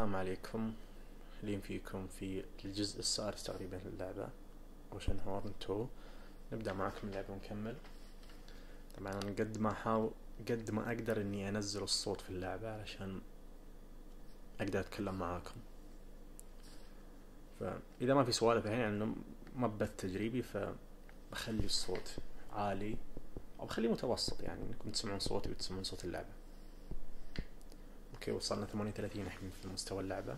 السلام عليكم. أهلين فيكم في الجزء السادس تقريبا للعبة اوشن هورن 2. نبدأ معكم اللعبة ونكمل. طبعا أنا قد ما أقدر إني أنزل الصوت في اللعبة علشان أقدر أتكلم معاكم، فإذا ما في سوالف الحين يعني ما بث تجريبي، فبخلي الصوت عالي أو بخليه متوسط، يعني إنكم تسمعون صوتي وتسمعون صوت اللعبة. اوكي، وصلنا 38 الحين في مستوى اللعبة.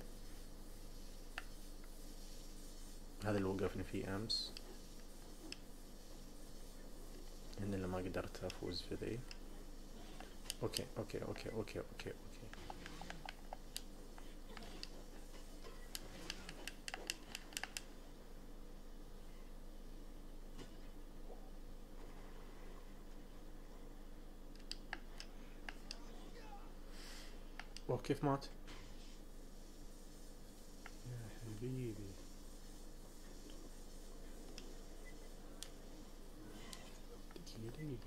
هذا اللي وقفني فيه امس، اني لما قدرت افوز في ذي. اوكي اوكي اوكي اوكي اوكي اوكي كيف مات يا حبيبي؟ دقيقة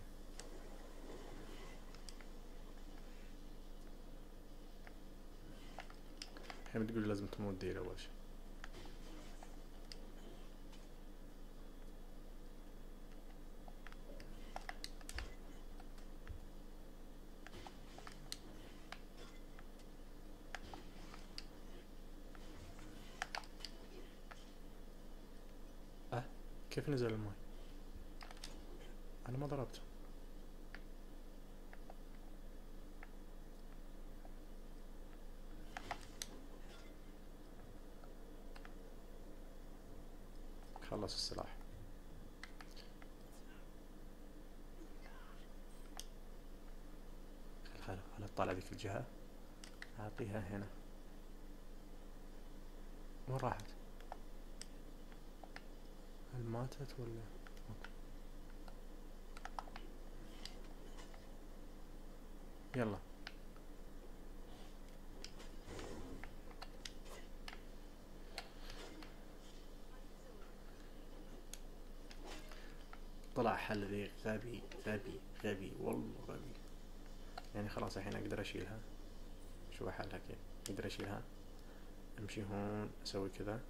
الحين بتقول لازم تموت دير اول شيء. كيف نزل الماي؟ انا ما ضربته. خلص السلاح. خل اطلع ذيك الجهة، اعطيها هنا. وين راحت؟ هل ماتت ولا؟ يلا طلع حل ذي. غبي غبي غبي والله غبي. يعني خلاص الحين اقدر اشيلها. شو حلها كيف اقدر اشيلها؟ امشي هون، اسوي كذا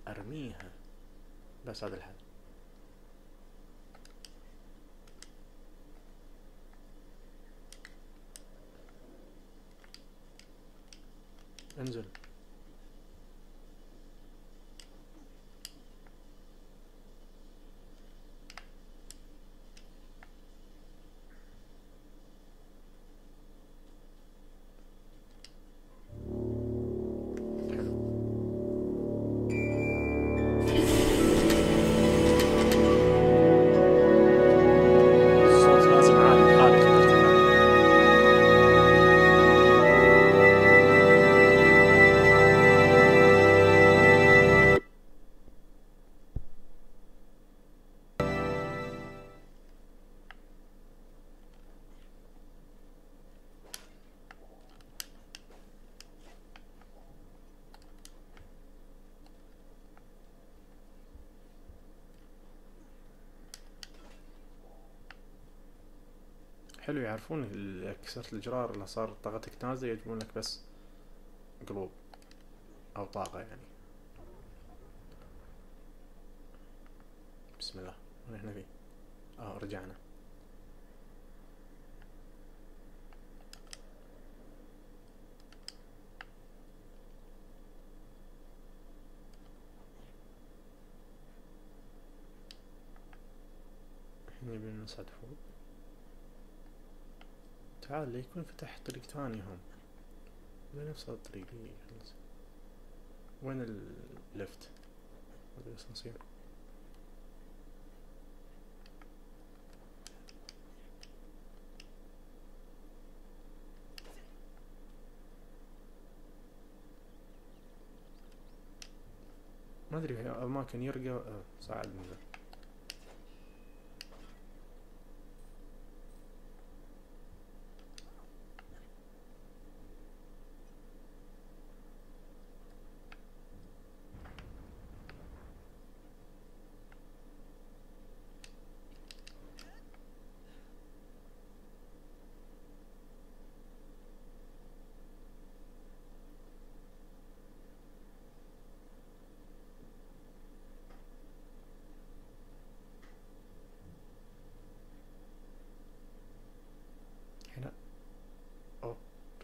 وارميها، بس هذا الحل. انزل. حلو. الصوت لازم عالي لحالك في الارتفاع. حلو، يعرفون إذا كسرت الجرار اللي صار طاقتك نازلة يجيبون لك بس قلوب او طاقة يعني. بسم الله. وين احنا فيه؟ رجعنا. الحين يبي نصعد فوق. تعال ليكون فتح طريق ثاني هم، ولا نفس الطريق اللي خلص. وين اللفت؟ هذا الاسانسير. ما ادري في اماكن يرقى. صعد نزل.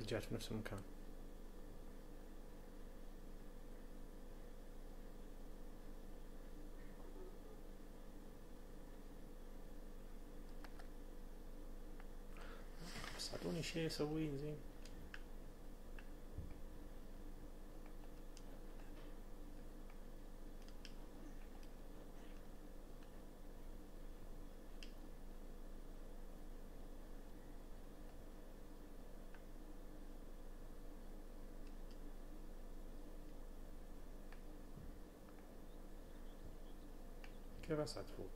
رجعت في نفس المكان. بس اعطوني شيء اسويه زين. كيف اصعد فوق؟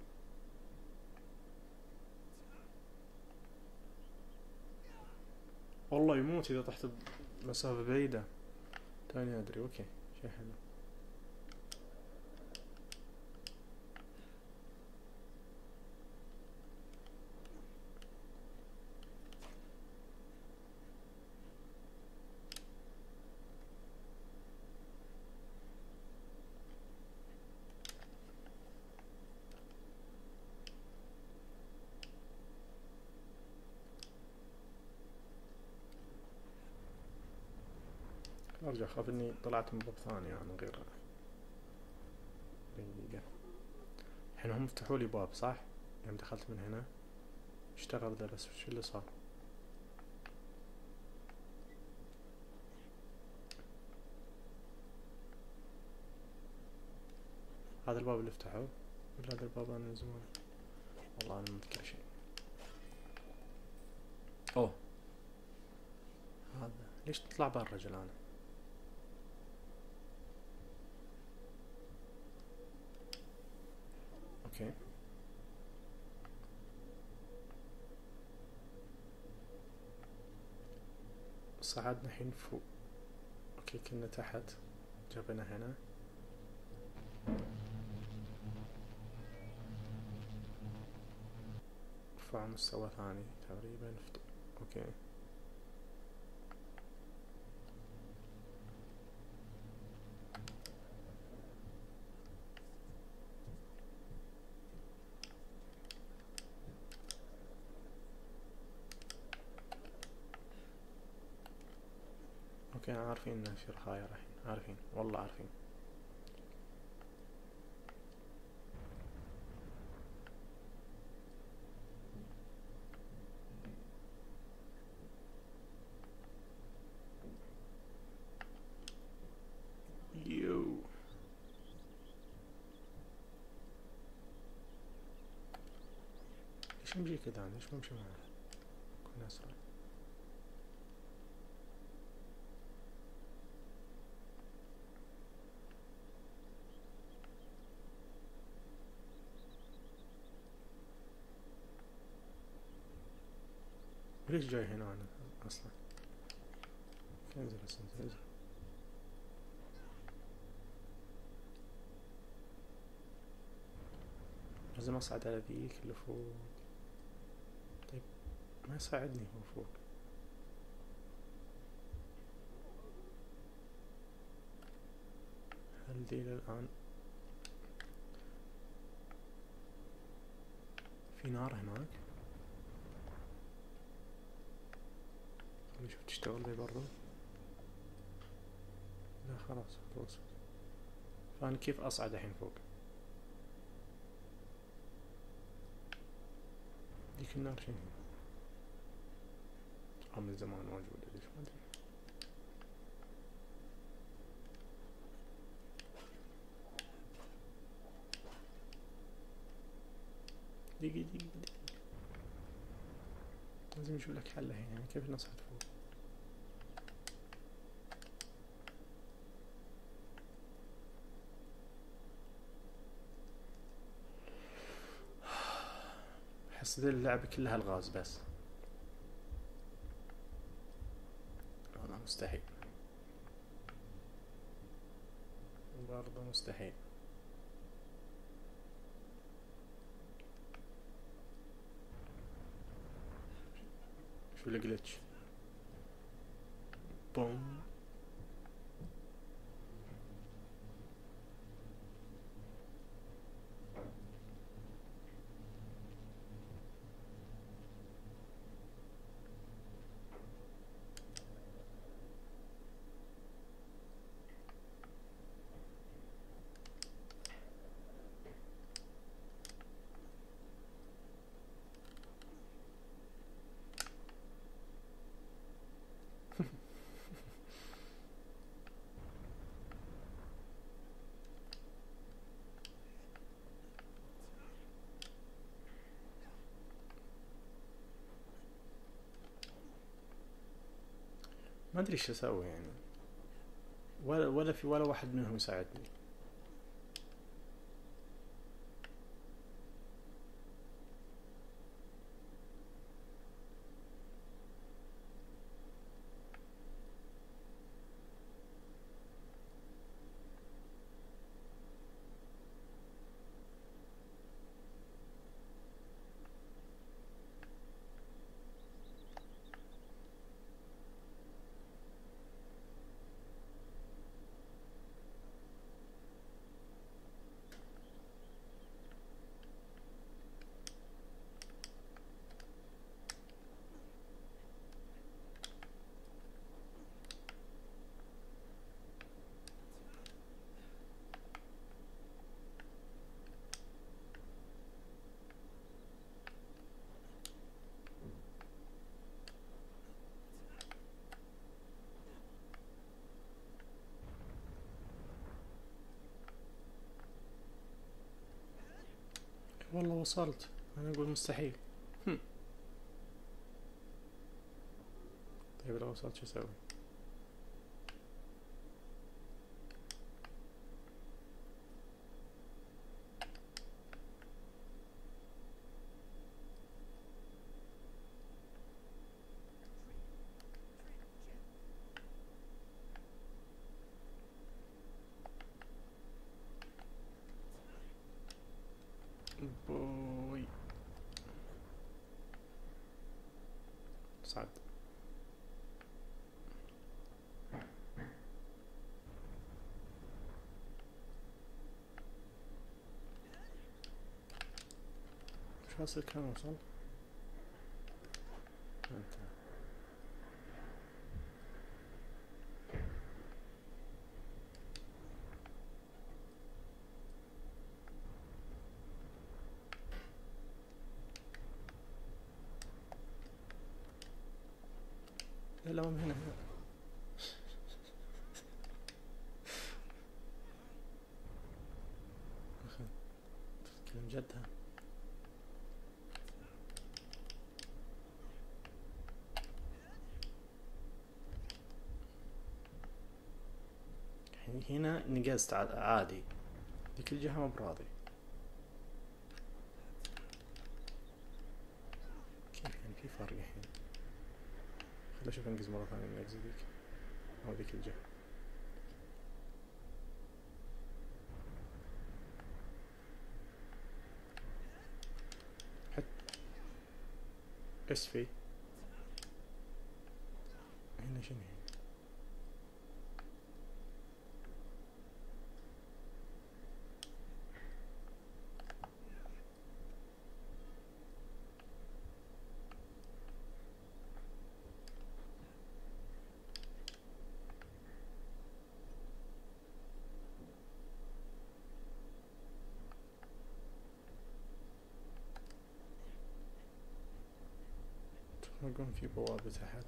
والله يموت اذا طحت بمسافة بعيدة. تاني ادري. اوكي شيء حلو. ارجع اخاف اني طلعت من باب ثاني يعني غير دقيقة. الحين هم فتحوا لي باب صح؟ يوم دخلت من هنا اشتغل ذا، بس وش اللي صار؟ هذا الباب اللي فتحوه ولا هذا الباب انا من زمان؟ والله انا ما اذكر شيء. اوه هذا ليش تطلع برا جلانة؟ اوكي صعدنا الحين فوق. اوكي كنا تحت، جابنا هنا. رفع مستوى ثاني تقريبا. اوكي اوكي عارفين ان في رخايا الحين، عارفين والله عارفين. يو ليش نمشي كذا؟ ليش ما نمشي معه؟ كنا اسرع. ليش جاي هنا انا اصلا؟ انزل انزل. لازم اصعد على ذيك اللي فوق. طيب ما يساعدني هو فوق. هل دي الان في نار هناك؟ خليني اشوف تشتغل ذي برضو. لا خلاص خلص. فانا كيف اصعد الحين فوق؟ ديك النار شنو؟ من زمان موجودة ليش ما ادري. دقيقة لازم نشوف لك حل هنا. يعني كيف نصعد فوق؟ احس ذي اللعبة كلها الغاز بس. والله مستحيل، برضه مستحيل. شو الجلتش؟ بوم. ادري ايش اسوي يعني، ولا في ولا واحد منهم يساعدني. والله وصلت، انا اقول مستحيل. طيب لو وصلت شو اسوي؟ بوي صعد. شو حاصل كان وصل؟ انت لا من هنا. تتكلم جدها. هنا نقزت عادي، ذيك الجهة ما براضي. كيف يعني في فرق الحين؟ خليني اشوف انقز مرة ثانية من اجزي ذيك او ذيك الجهة. حط ايش في هنا؟ شنو هنا؟ يكون في بوابة تحت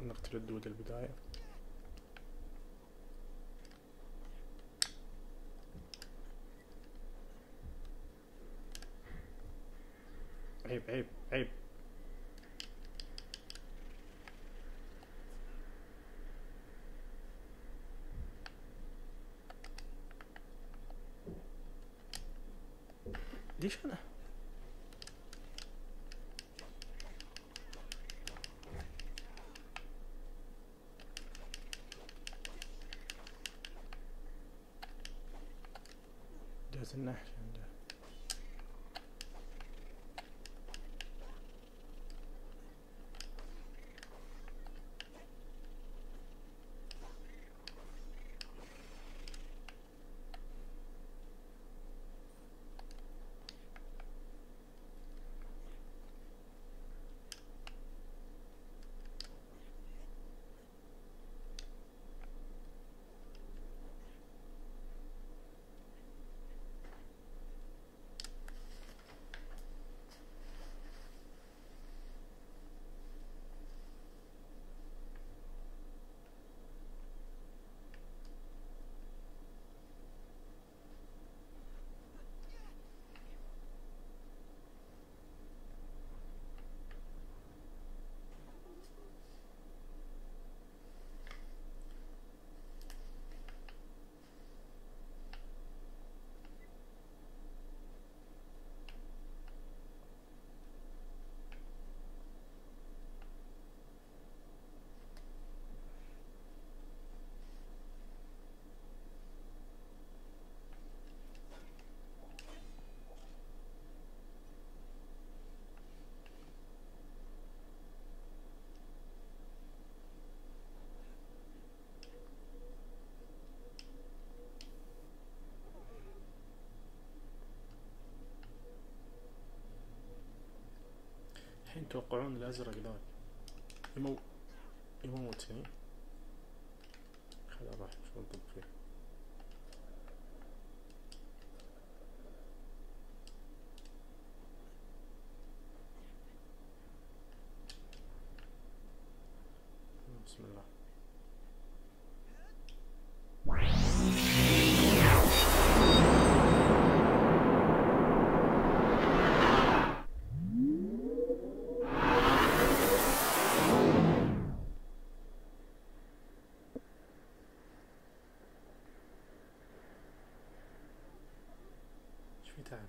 نقتل الدود البداية. عيب عيب عيب. ليش انا؟ جهة النحش عنده. يتوقعون الازرق ذاك يموتني. خلينا نروح شو نطب فيه. بسم الله. ايش في تعب؟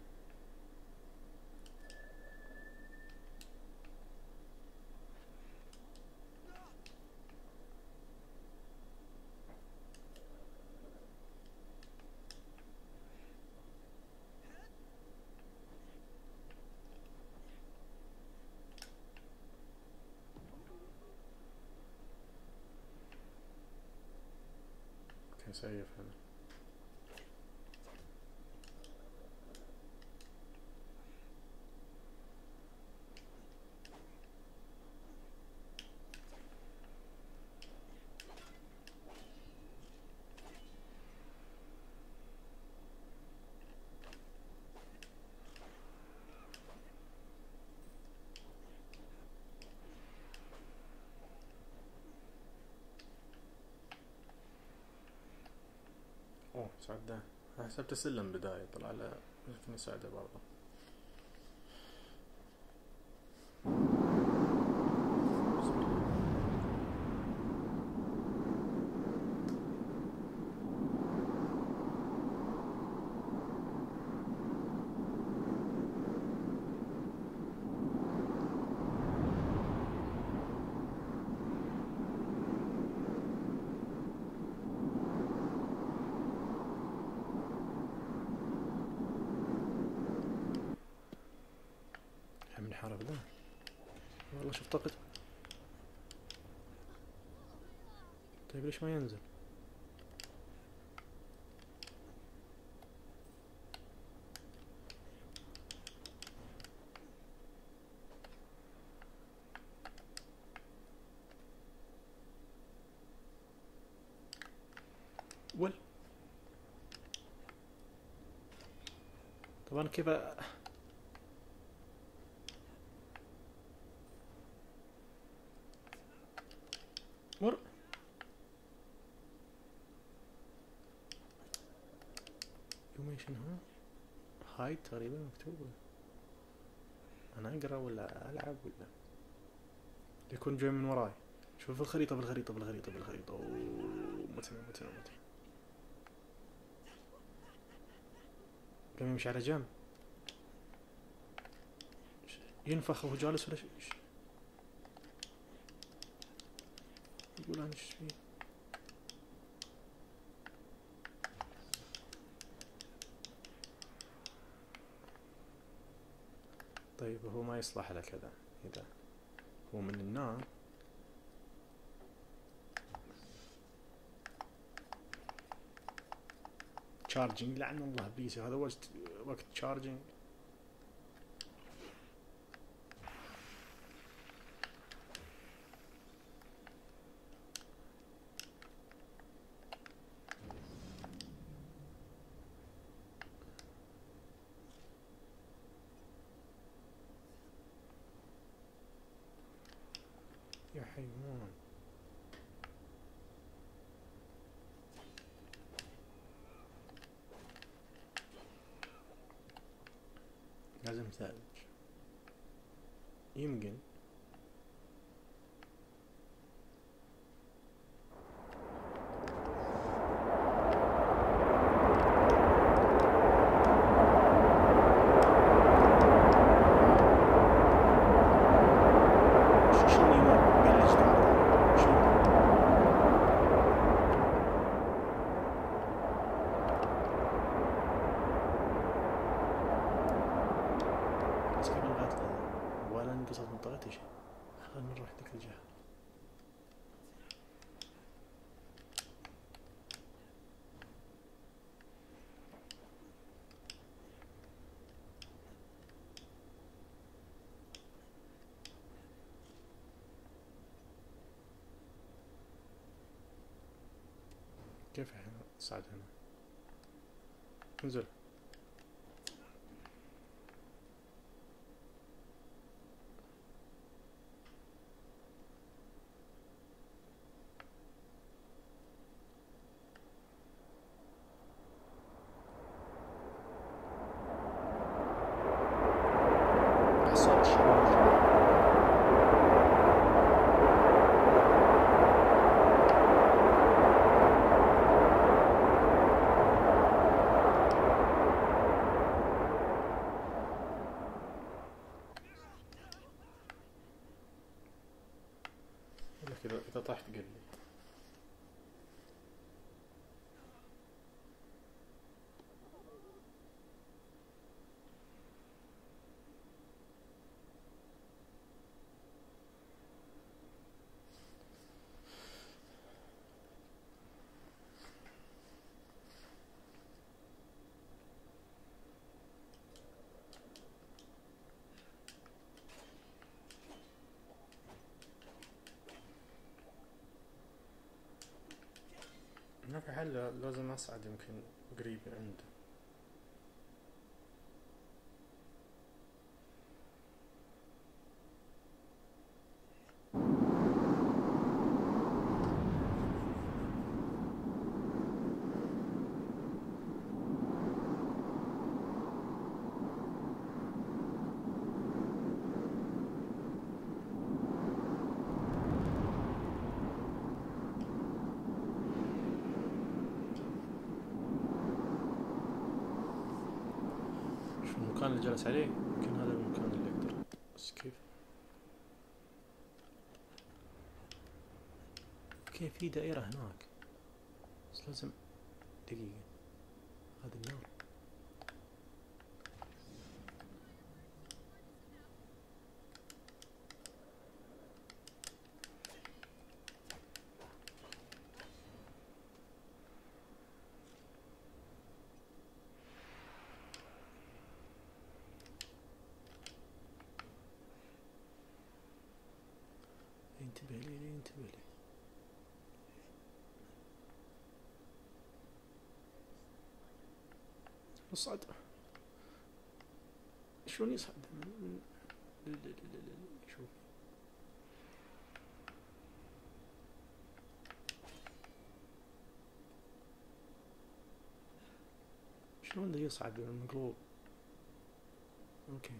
سيف هذا. اوه سعده. حسبته سلم بداية طلع له يمكن يساعده برضه. حرب ذا والله شوف طاقته. طيب ليش ما ينزل؟ طبعا كيف مر يوميشن هاي تقريبا مكتوبة. انا اقرا ولا العب ولا يكون جاي من وراي. شوف الخريطة اوه متنا قام يمشي على جنب ينفخ وهو جالس ولا شيء. يقول انا ايش فيه. طيب هو ما يصلح له كذا. اذا هو من النار تشارجينج لعن الله بيسي. هذا وقت تشارجينج. يا حيوان لازم ثلج يمكن. ولا انقصت منطقتي. كيف احنا نصعد هنا؟ انزل. حصلت شغل. لك إذا طحت قل لي. ما في حل، لازم أصعد يمكن قريب عنده. شو المكان اللي جالس عليه؟ يمكن هذا المكان اللي أقدر. بس كيف؟ كيف في دائرة هناك؟ بس لازم دقيقة. هذا النار. انتبه لي انتبه لي. اصعد. شلون يصعد؟ شوف. شلون ده يصعد المقلوب؟ اوكي.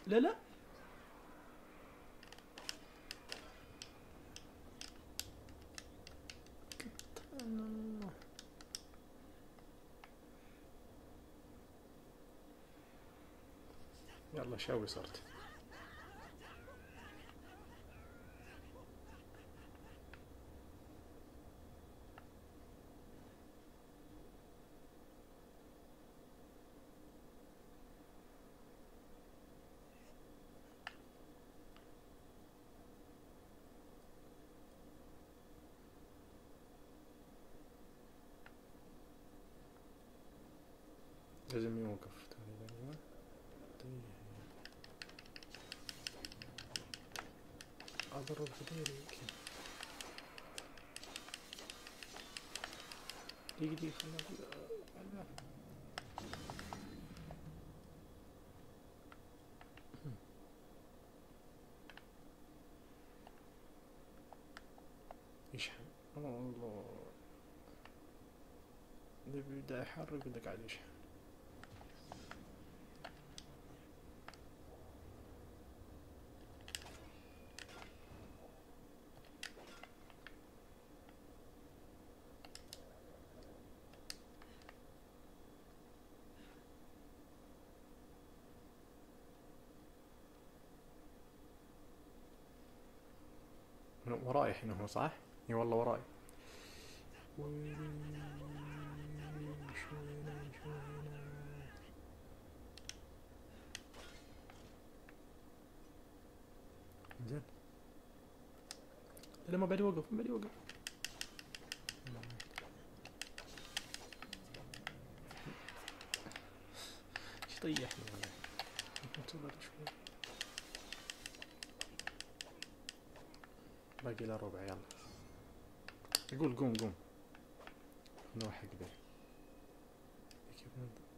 لا لا. يلا شاوي صرت. لازم يوقف تقريبا. اضرب غيري يمكن. دقيقة خلنا. يشحن. الله. بدأ يحرك وده قاعد يشحن. وراي الحين هو صح؟ اي والله وراي. زين. لا ما بعد يوقف ما بعد يوقف. طيحني والله. انتظر شوي. باقي له ربع يلا. يقول قوم قوم. نروح حق ذا. كيف نبدأ؟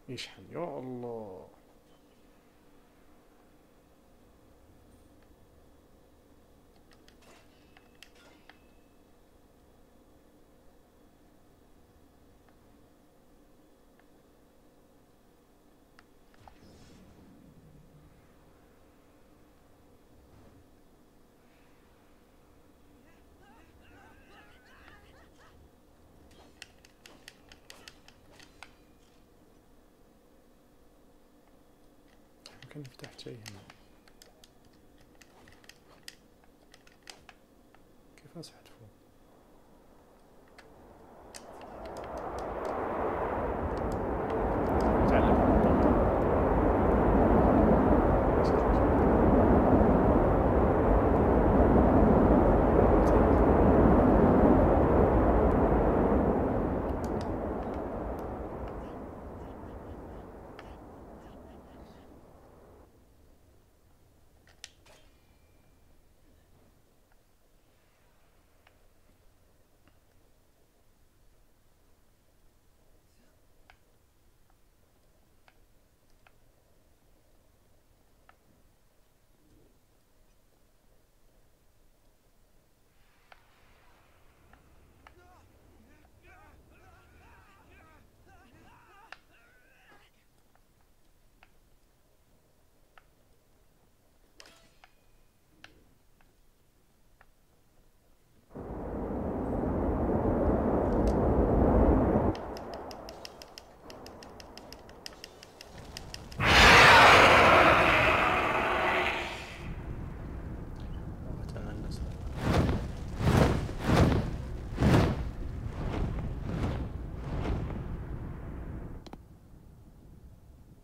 يشحن يا الله. يمكن فتحت شيء هنا. كيف اصعد فوق؟ تعلم.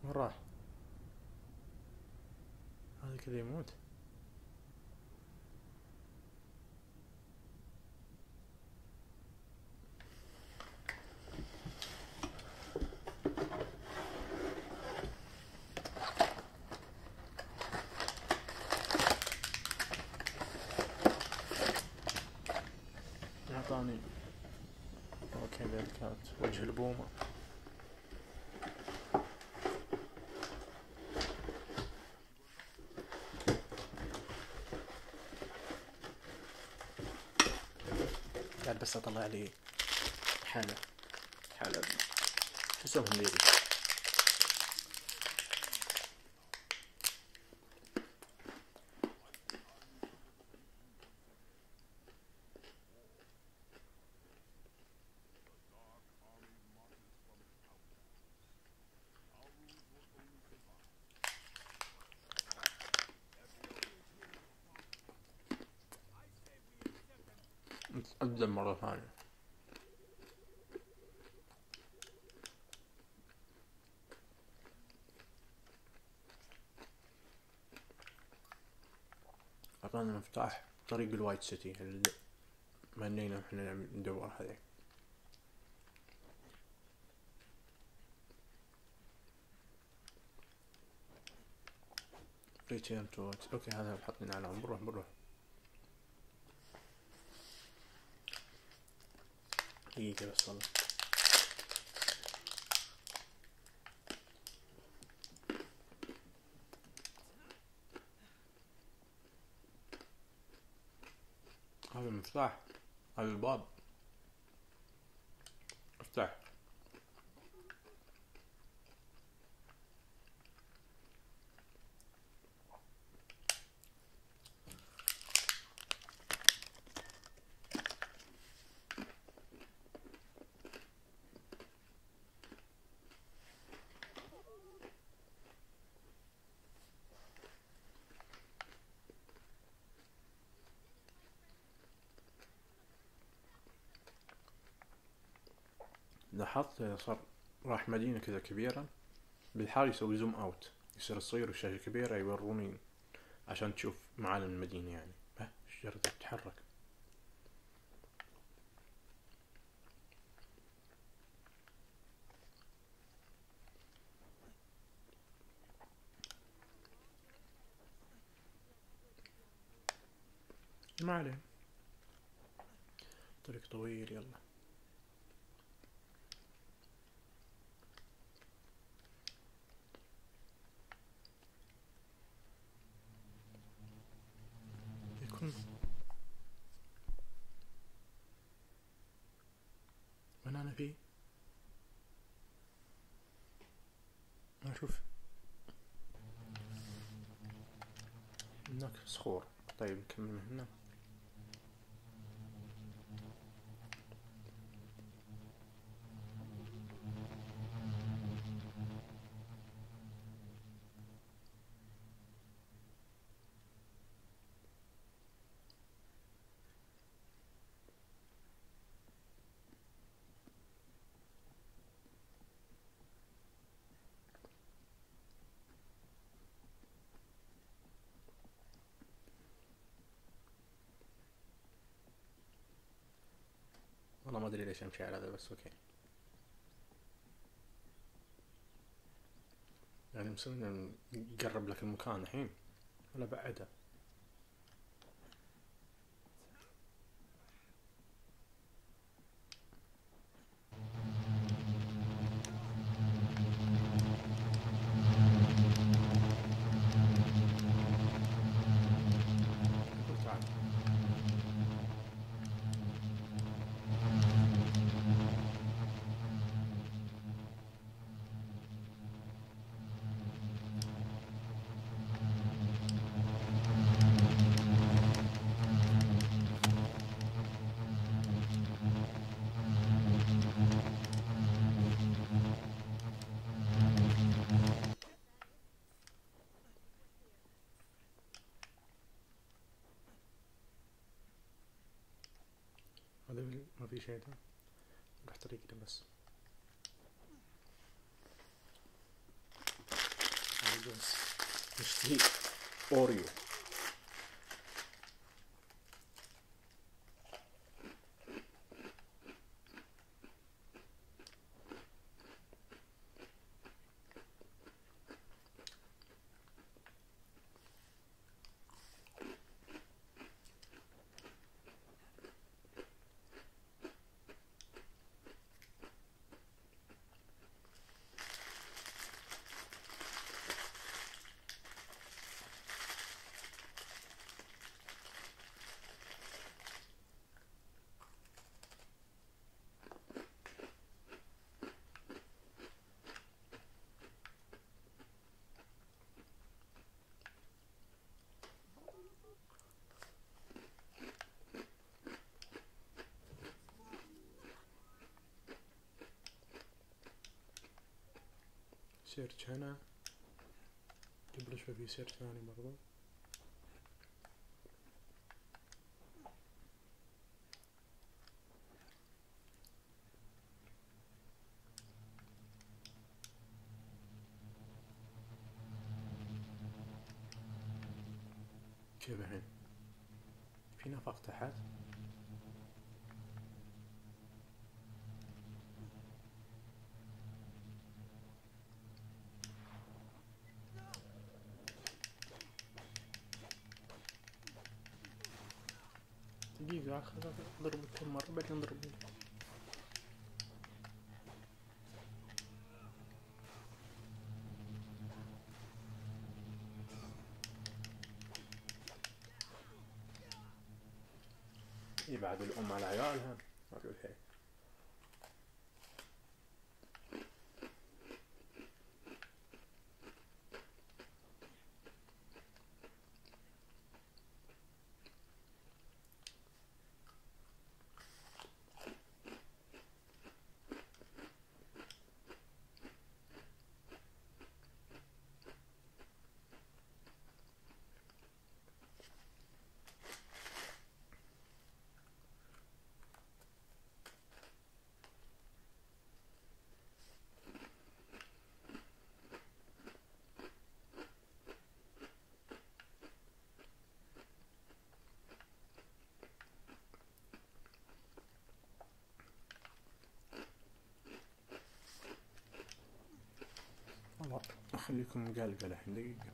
وين راح؟ هذا كذا يموت. اعطاني. اوكي ذا كانت وجه البومة. قاعد بس اطلع لي حالة حسوم هنديري. أقدم مرة ثانية. أعطانا مفتاح طريق الوايت سيتي اللي منينا احنا ندور هذيك. ريتيرن تو اوكي هذا حطينا على بنروح دقيقة بس والله. هذا المفتاح، هذا الباب افتح. لاحظت إذا صار راح مدينة كذا كبيرة بالحال يسوي زوم اوت، يصير تصير الشاشة كبيرة يوروني عشان تشوف معالم المدينة يعني. الشجرة تتحرك. ما عليه، طريق طويل. يلا يكون وين أنا فيه؟ ما أشوف هناك صخور. طيب نكمل من هنا. والله ما أدري ليش أمشي على هذا، بس أوكي. يعني مسوي يقرب لك المكان الحين ولا بعده؟ تعال. هذا ما في شيء ده، راح طريقنا بس. بس نشتري أوريو. سيرش هنا قبل شوي، في سيرش ثاني برضو. كيف الحين؟ في نفق تحت. دقيقة اضرب كم مرة بعدين نضرب. يبعد الأم على عيالها، ما في شيء. والله أخليكم مقلقة الحين دقيقة.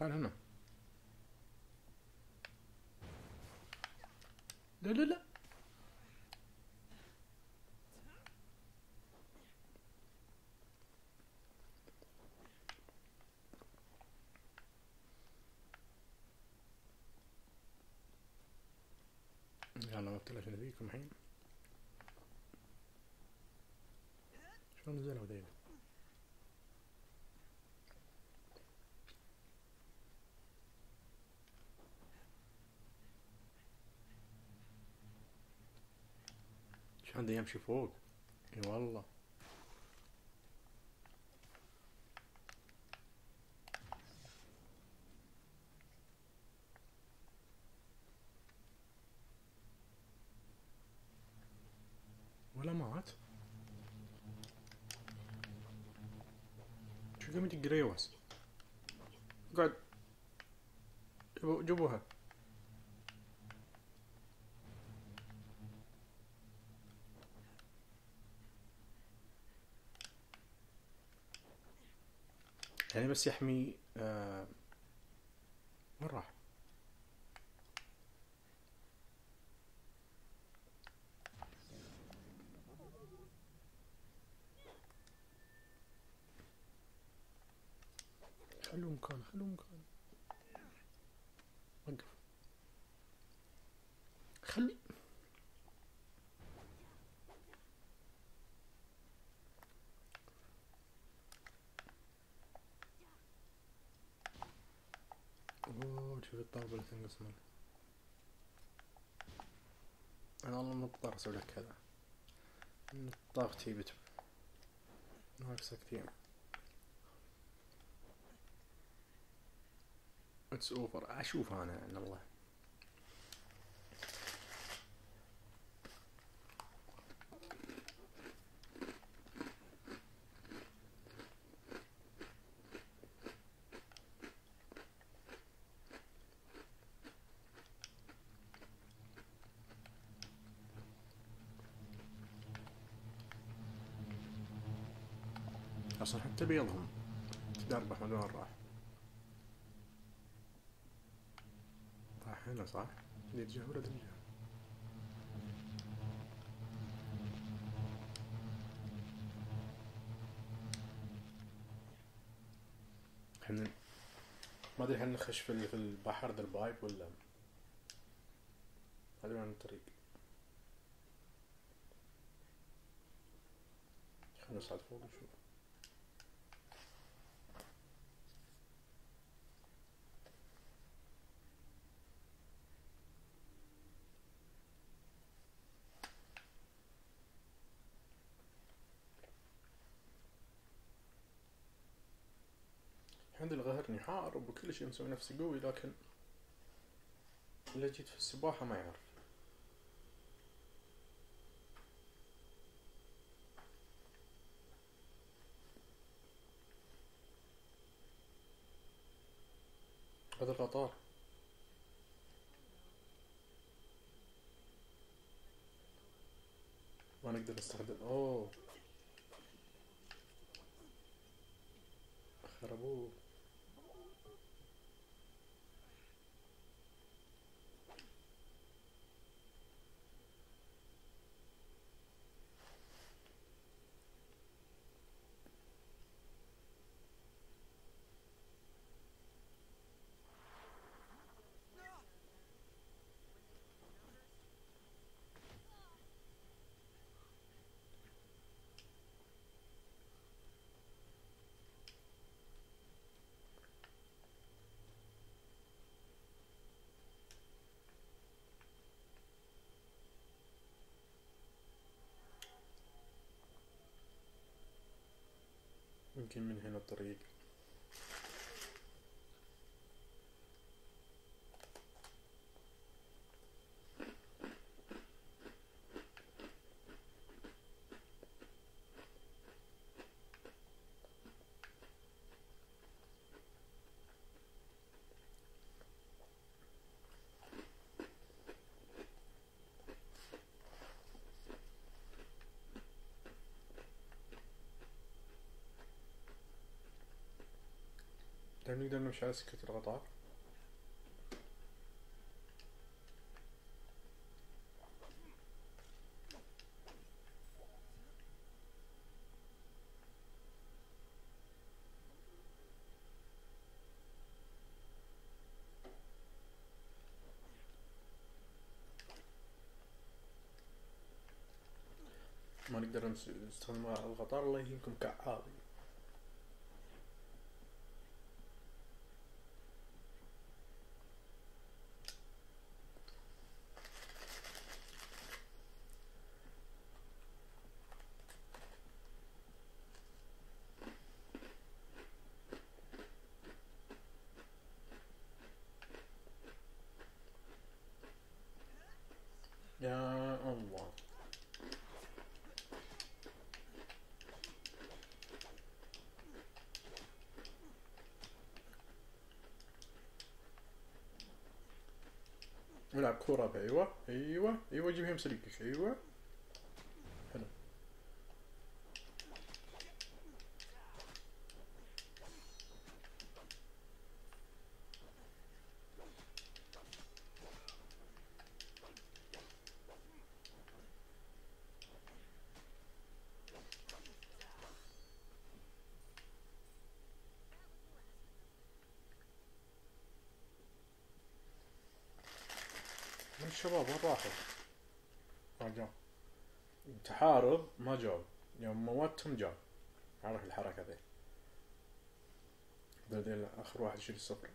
تعال هنا. لا لا لا. يلا ما بتلاش نبيكم الحين. شلون نزلوا ذيلا؟ شلون دا يمشي فوق؟ اي والله. ولا مات؟ شو قام يدق ريوس؟ اقعد. جيبوها. يعني بس يحمي وين راح؟ خلوه مكانه خلوه مكانه. وقف. خلي. اوه شوف الطاقة اللي تنقص منه. انا والله مضطر اسوي لك كذا. طاقتي ناقصة كثير. اتس اوفر. اشوف انا عن الله. اصلا حتى بيضهم تدربح من وين راح. راح هنا صح؟ اللي تجاه ولا تجاه؟ احنا ما ادري هل نخش في البحر ذا البايب ولا هذا وين الطريق؟ خلنا نصعد فوق نشوف. عندي القهر يحارب وكل شيء مسوي نفسي قوي، لكن إذا جيت في السباحة ما يعرف. هذا القطار ما نقدر نستخدم. اوه خربوه. يمكن من هنا الطريق. هل نقدر نمشي على سكة القطار؟ ما نقدر نستخدم القطار. الله يهينكم كعابي. يا الله. نلعب كورة. ايوه ايوه ايوه جيبها مسليكك. ايوه حلو. من الشباب وين راحوا؟ ما جاء. تحارب ما جاء. يوم موتهم جاء. عرف الحركة ذي. بعدين آخر واحد يشيل الصفر.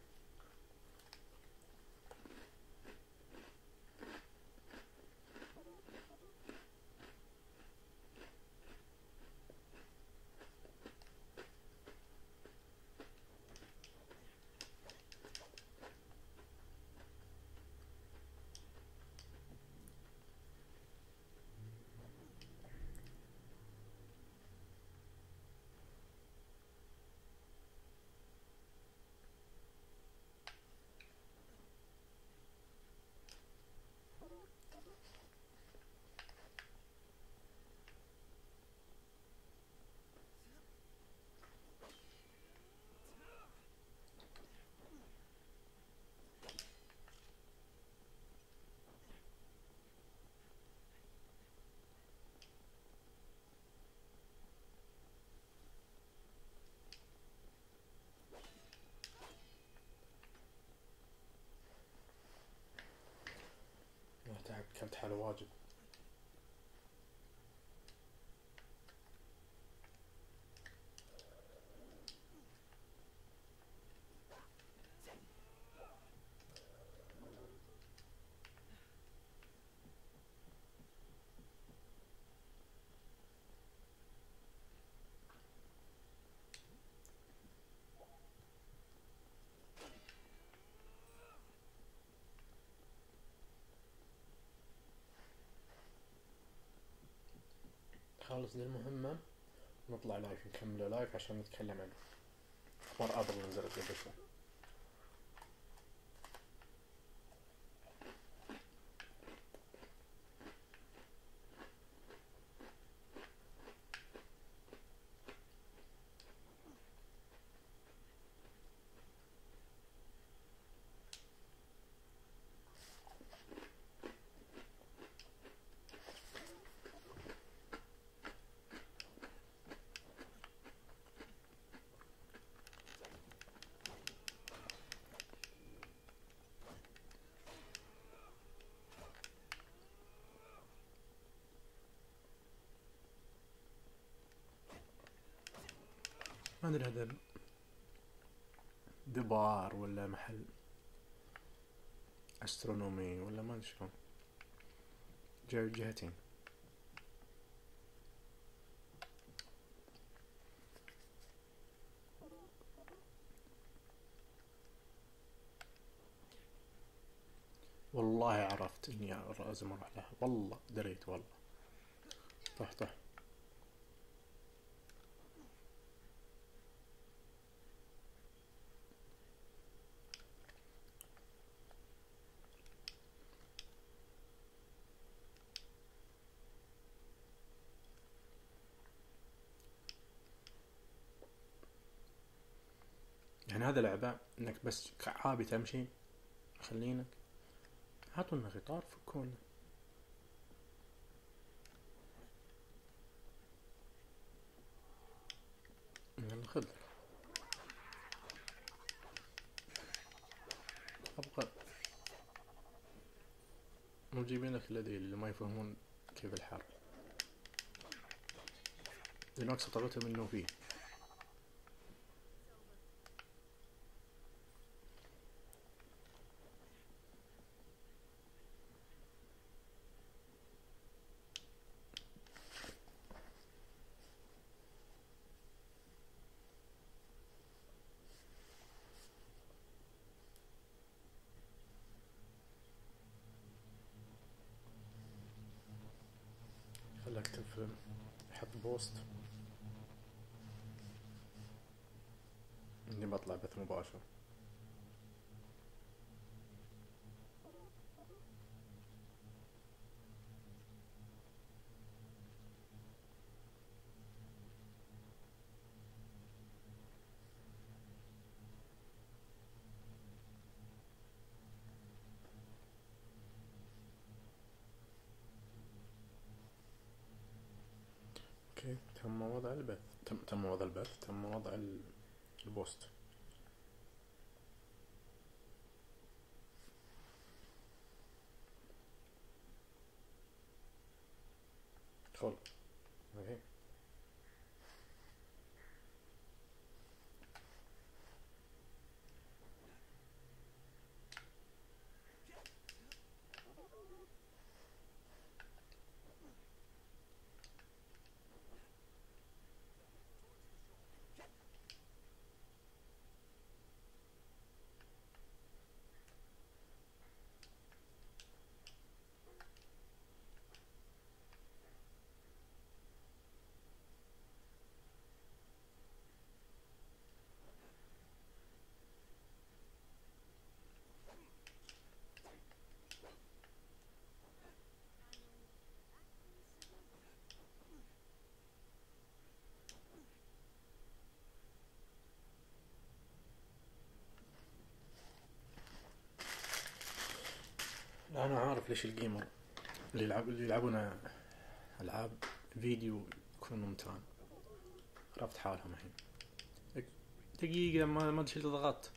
كلت حاله واجد. خالص ذي المهمة نطلع لايف نكمله لايف عشان نتكلم عنه. أخبار أبل نزلت قبل شوي. ما أدري هذا دبار ولا محل أسترونومي ولا ما أدري شلون. جاي جهتين. والله عرفت إني لازم أروح لها. والله دريت والله. طح. يعني هذا لعبة انك بس كعابي تمشي، خلينك هاتوا لنا قطار فكونا. يلا خذ. ابغى مو جايبين لك الذي اللي ما يفهمون كيف الحرب، لأن أقصى طلبتهم إنه فيه. خليك اكتب حط بوست اني بطلع بث مباشر. اوكي تم وضع البث، تم وضع البث، تم وضع البوست. خل اوكي. لا انا عارف ليش الجيمر اللي يلعبون العاب فيديو يكونوا ممتعين. عرفت حالهم الحين. دقيقة ما ادري اللي ضغطت.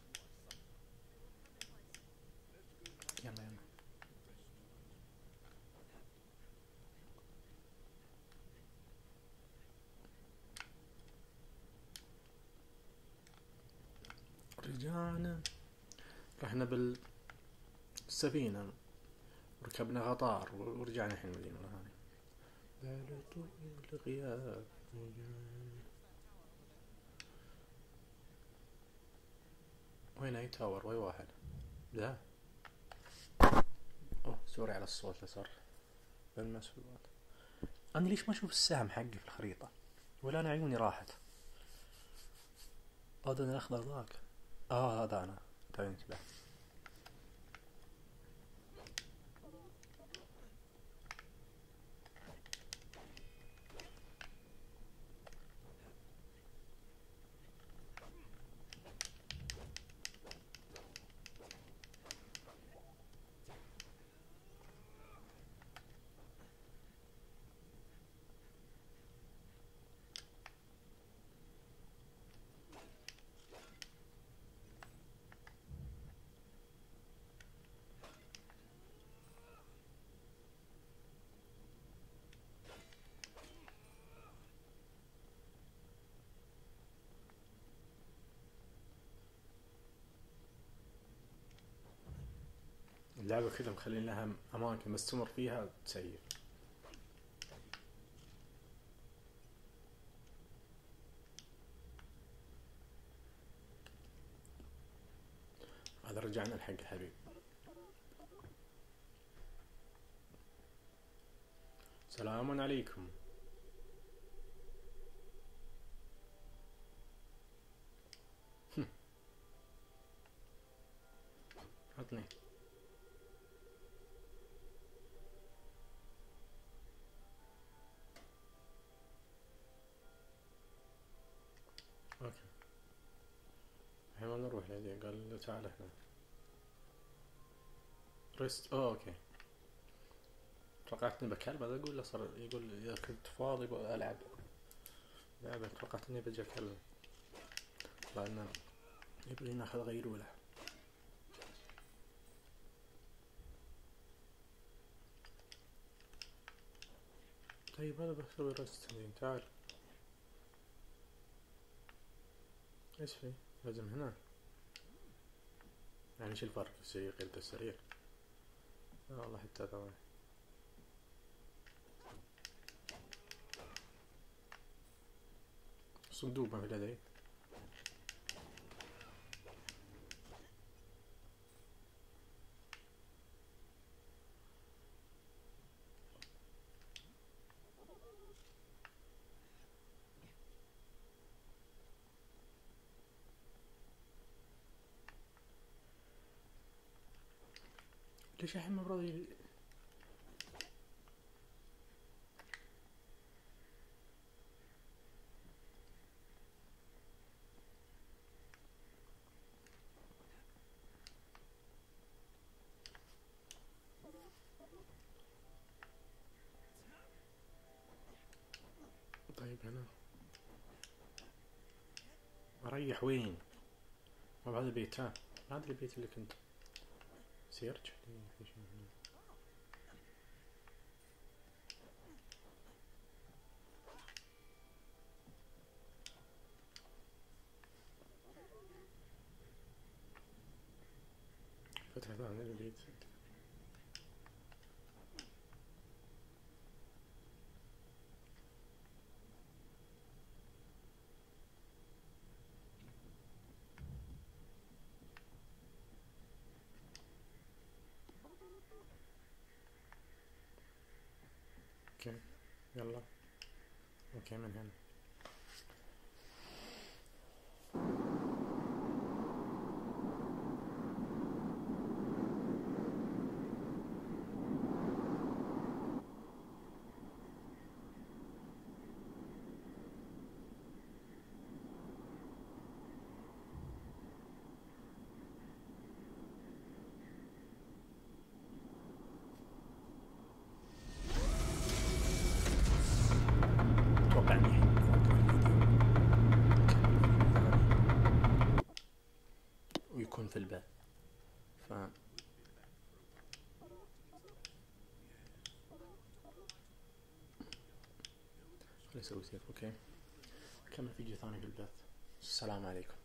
يلا يلا. رجعنا، رحنا بالسفينة وركبنا قطار ورجعنا الحين المدينة مرة ثانية. بعد طول الغياب. وين اي تاور؟ وين واحد؟ لا اوه سوري على الصوت اللي صار بالمسؤولات. انا ليش ما اشوف السهم حقي في الخريطة؟ ولا انا عيوني راحت؟ هذا الاخضر ذاك. هذا انا توني انتبهت. اللعبة كذا مخلين لها أماكن بس تمر فيها تسيف. هذا رجعنا الحق حبيب. سلام عليكم. عطني اوكي الحين نروح روح لدي، قال له تعال هنا ريست. اوكي توقعت اني بكلمه اقول له صار يقول اذا كنت فاضي العب لعبة. توقعت اني بجي اكلمه لانه يبغي ناخذ غيرولة. طيب انا بسوي ريست تمرين. تعال ايش في؟ لازم هنا يعني ايش الفرق السرير غير السرير؟ لا والله حتى ثواني. صندوق ما في لدي. ليش الحين ما براضي؟ طيب هنا اريح وين؟ ما بهذا البيت. ها هذا البيت اللي كنت سيرج في شيء هنا. فتحة ثانية البيت. اوكي يلا اوكي من هنا. اتوقع اني ويكون في البث ف خلي اسوي سيف. اوكي كمل فيديو ثاني في البث. السلام عليكم.